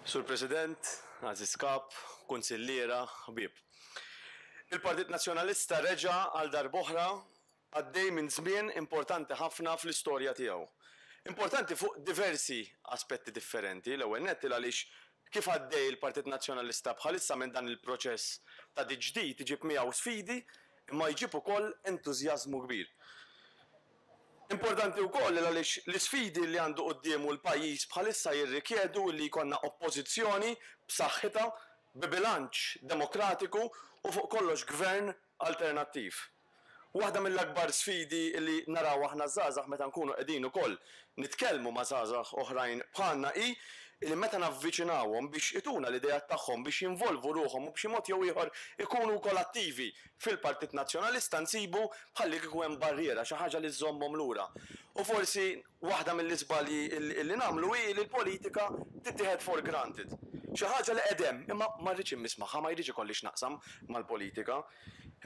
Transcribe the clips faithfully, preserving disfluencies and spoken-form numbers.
Sur President, għażiż Kap, kunsilliera, ħbieb. Il-Partit Nazzjonalista reġa' għal darb'oħra għaddej minn żmien importanti ħafna fl-istorja tiegħu. Importanti fuq diversi aspetti differenti. L-ewwel nett għaliex kif għaddej il-Partit Nazzjonalista bħalissa minn dan il-proċess ta' tiġdid iġib miegħu sfidi, imma jġib ukoll entużjażmu kbir. Importanti wkoll għaliex l-isfidi li għandu quddiemu l-pajjiż bħalissa jirrikjedu li jkollna oppożizzjoni b'saħħitha, bi bilanċ demokratiku u fuq kollox gvern alternattiv. Waħda mill-akbar sfidi li naraw aħna żgħażagħ meta nkunu qegħdin ukoll nitkellmu ma' żgħażagħ oħrajn bħalna hi li meta navviċinawhom biex ituna l-ideat tagħhom, biex jinvolvu ruħhom u b'xi mod jew ieħor ikunu wkoll attivi fil-Partit Nazzjonalista, nsibu bħalli kieku hemm barriera, xi ħaġa li żżommhom lura. U forsi waħda mill-iżbalji li nagħmlu hi li l-politika tittieħed for granted. Xi ħaġa li qegħdem, imma ma rridx immiss magħha, ma jridx ikolli x'naqsam mal-politika.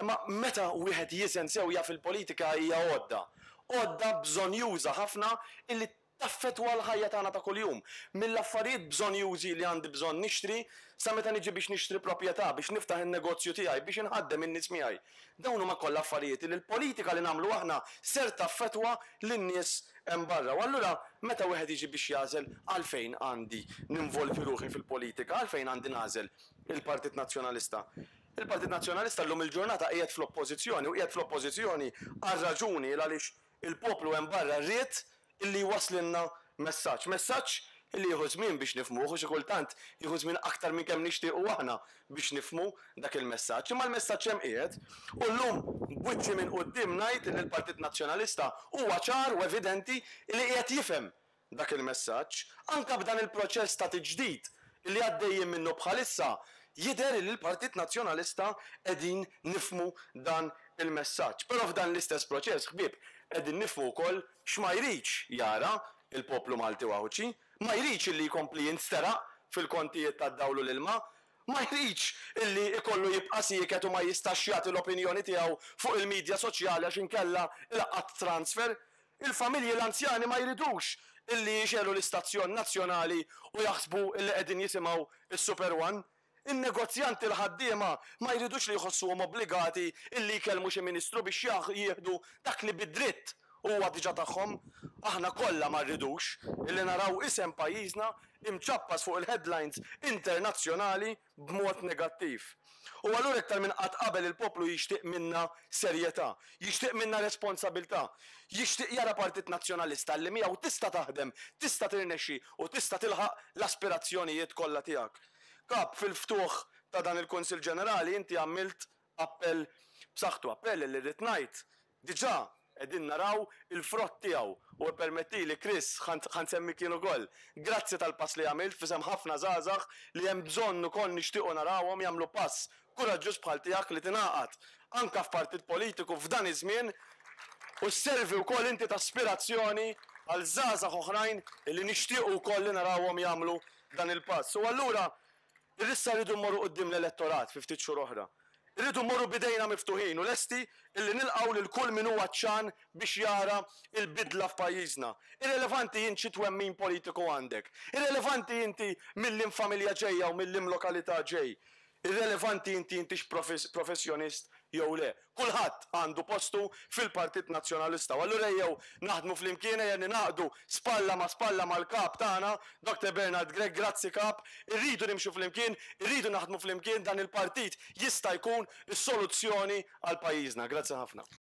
Imma meta wieħed jiżen sew jaf il-politika hija għodda. Għodda bżonjuża ħafna illi taffettwa l-ħajja tagħna ta' kuljum. Mill-affarijiet bżonjużi li għandi bżonn nixtri, sa meta niġi biex nixtri proprjetà, biex niftaħ in-negozju tiegħi, biex inħaddem in-nies miegħi. Dawn huma kollha affarijiet li l-politika li nagħmlu aħna ser taffettwa lin-nies hemm barra. U allura meta wieħed jiġi biex jagħżel għalfejn għandi ninvolvi ruħi fil-politika, għalfejn għandi nagħżel il-Partit Nazzjonalista. Il-Partit Nazzjonalista llum il-ġurnata qiegħed fl-oppożizzjoni u qiegħed fl-oppożizzjoni għal raġuni għaliex il-poplu hemm barra ried illi waslinna messaġġ. Messaġġ illi jieħu żmien biex nifhmuh u xi kultant jieħu żmien aktar minn kemm nixtiequ aħna biex nifhmu dak il-messaġġ. Imma l-messaġġ hemm qiegħed u llum b'wiċċi minn quddiem ngħid li l-Partit Nazzjonalista huwa ċar u evidenti li qiegħed jifhem dak il-messaġġ. Anke b'dan il-proċess ta' tiġdid li għaddejjin minnu bħalissa jidher li l-Partit Nazzjonalista qegħdin nifhmu dan il-messaġġ. Però f'dan l-istess proċess, ħbieb, qegħdin nifhmu wkoll x'ma jridx jara il-poplu Malti u Għawdxi, ma jridx illi jkompli jinsteraq fil-kontijiet tad-dawl u l-ilma, ma jridx illi ikollu jibqa' sieket u ma jistax jagħti l-opinjoni tiegħu fuq il-medja soċjali għax inkella ilaqqat transfer. Il-familji l-anzjani ma jridux illi jixegħlu l-istazzjon nazzjonali u jaħsbu illi qegħdin jisimgħu is-Super One. In-negozjanti l-ħaddiema ma jridux li jħossuhom obbligati illi jkellmu xi ministru biex jieħdu dak li bid-dritt huwa diġà tagħhom. Aħna kollha ma rridux illi naraw isem pajjiżna imċappas fuq il-headlines internazzjonali b'mod negattiv. U allura iktar minn qatt qabel il-poplu jixtieq minna serjetà, jixtieq minna responsabilità, jixtieq jara Partit Nazzjonalista li miegħu tista' taħdem, tista' tirnexxi u tista' tilħaq l-aspirazzjonijiet kollha tiegħek. Kap, fil-ftuħ ta' dan il-Kunsill Ġenerali inti għamilt appell b'saħħtu, appell li rrid ngħid diġà qegħdin naraw il-frott tiegħu u permettili, Chris, ħa nsemmi kien ukoll. Grazzi tal-pass li għamilt f'isem ħafna żgħażagħ li hemm bżonn ukoll nixtiequ narawhom jagħmlu pass kuraġġuż bħal tiegħek li tingħaqad anke f'partit politiku f'dan iż-żmien u sservi wkoll inti ta' aspirazzjoni għal żgħażagħ oħrajn li nixtiequ wkoll li narawhom jagħmlu dan il-pass. U allura issa rridu mmorru quddiem l-elettorat fi ftit xhur oħra. Irridu mmorru b'idejna miftuħin u lesti illi nilqgħu lil kull min huwa għatxan biex jara l-bidla f'pajjiżna. Irrelevanti int xi twemmin politiku għandek. Irrelevanti inti mill-liem familja ġejja u mill-liem lokalità ġej. Irrelevanti inti intix professjonist jew le. Kulħadd għandu postu fil-Partit Nazzjonalista. U allura ejjew naħdmu flimkien, ejja ningħaqdu spalla ma' spalla mal-kap tagħna, Doctor Bernard Grech. Grazzi Kap, irridu nimxu flimkien, irridu naħdmu flimkien, dan il-partit jista' jkun is-soluzzjoni għal pajjiżna. Grazzi ħafna.